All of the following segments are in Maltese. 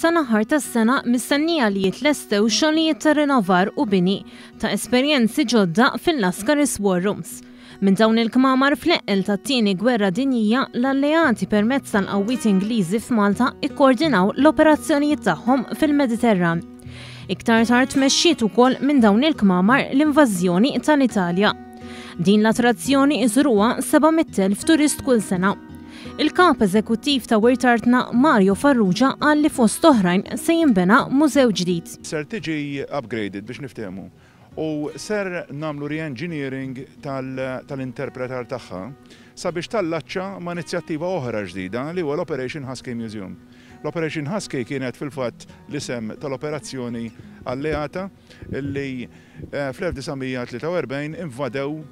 sal-aħħar tas-sena mistennija li jitlestew xogħlijiet ta' rinnovar u bini ta' esperjenzi ġodda fil-Lascaris War Rooms. Minn dawn il-kmamar fl-eqqel tat-Tieni Gwerra Dinjija, l-Alleati permezz tal-qawwiet Ingliżi f'Malta ikkoordinaw l-operazzjonijiet tagħhom fil-Mediterran. Iktar tard tmexxiet ukoll minn dawn il-kmamar l-invażjoni tal-Italja. Din l-attrazzjoni iżuruha 700,000 turist kull sena. Il-Kap Eżekuttiv ta' Wirt Artna Mario Farrugia qal li fost oħrajn se jinbena mużew ġdid. Ser tiġi upgraded biex niftehmu u ser nagħmlu re-engineering tal-interpretar tagħha sabiex tallaċċa ma' inizjattiva oħra ġdida li huwa l-Operation Husky Museum. L-Operation Husky kienet fil-fatt l-isem tal-operazzjoni alleata li fl-1943 invadew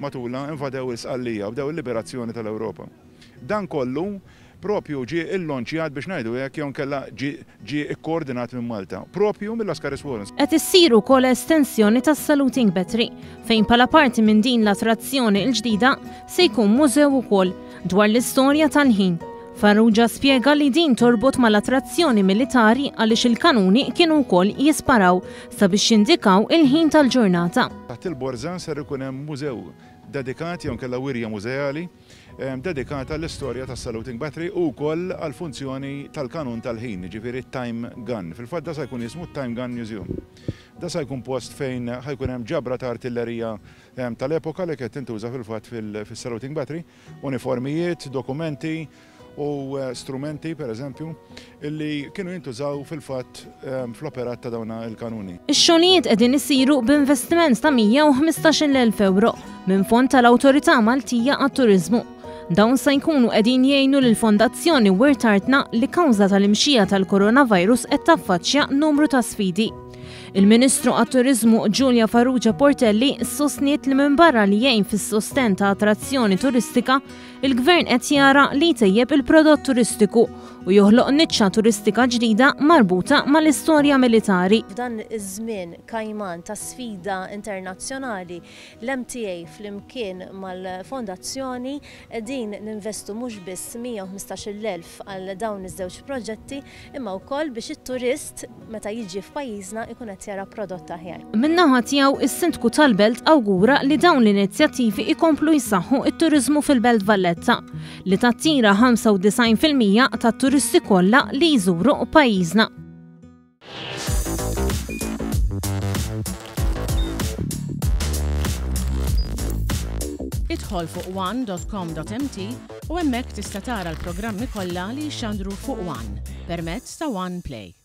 matulha invadew il-Sqallija u bdew il-liberazzjoni tal-Ewropa. Dan kollu propju ġie illonċjat biex ngħidu hekk jew inkella ġie ġie ikkoordinat minn Malta, propju mill-Lascaris Warrens. Qed issir ukoll estensjoni tas-Saluting Battery, fejn bħala parti minn din l-attrazzjoni l-ġdida se jkun mużew ukoll dwar l-istorja tal-ħin. Farrugia spjega li din torbot mal-attrazzjoni militari għaliex il-kanuni kienu wkoll jisparaw sabiex jindikaw il-ħin tal-ġurnata. Taħt il-Borża ser ikun hemm mużew dedikat jew inkella wirja mużeali dedikata għall-istorja tas-Saluting Battery u wkoll għall-funzjoni tal-kanun tal-ħin, jiġifieri t-Time Gun. Fil-fatt da sa jkun jismu t-Time Gun Museum. Da sa jkun post fejn ħa jkun hemm ġabra ta' artillerija tal-epoka li kienet tintuża fil-fatt fis-Saluting Battery, uniformijiet, dokumenti, u strumenti, per eżempju, illi kienu jintużaw fil-fatt fl-operat ta' dawn il-kanuni. Ix-xogħlijiet qegħdin isiru b'investiment ta' 115,000 ewro minn fond tal-Awtorità Maltija għat-Turiżmu. Dawn se jkunu qegħdin jgħinu lill-Fondazzjoni Wirt Artna li kawża tal-imxija tal-coronavirus qed taffaċċja numru ta' sfidi. Il-Ministru għat-Turiżmu Julia Farrugia Portelli sostniet li minbarra li jgħin fis-sostenn ta' attrazzjoni turistika, Il-Gvern qed jara li jtejjeb il-prodott turistiku u joħloq niċċa turistika ġdida marbuta mal-istorja militari. F'dan iż-żmien kajman ta' sfida internazzjonali, l-MTA flimkien mal-Fondazzjoni qegħdin ninvestu mhux biss 115,000 għal dawn iż-żewġ proġetti imma wkoll biex it-turist meta jiġi f'pajjiżna jkun qed jara prodott aħjar. Min-naħa tiegħu, is-Sindku tal-Belt awgura li dawn l-inizjattivi jkomplu jsaħħu t-turiżmu fil-Belt Valletta, li tattira 95% tat-turisti kollha li jżuru pajjiżna. Idħol fuq one.com.mt u hemmhekk tista' tara l-programmi kollha li jixxandru fuq One permezz ta' One Play.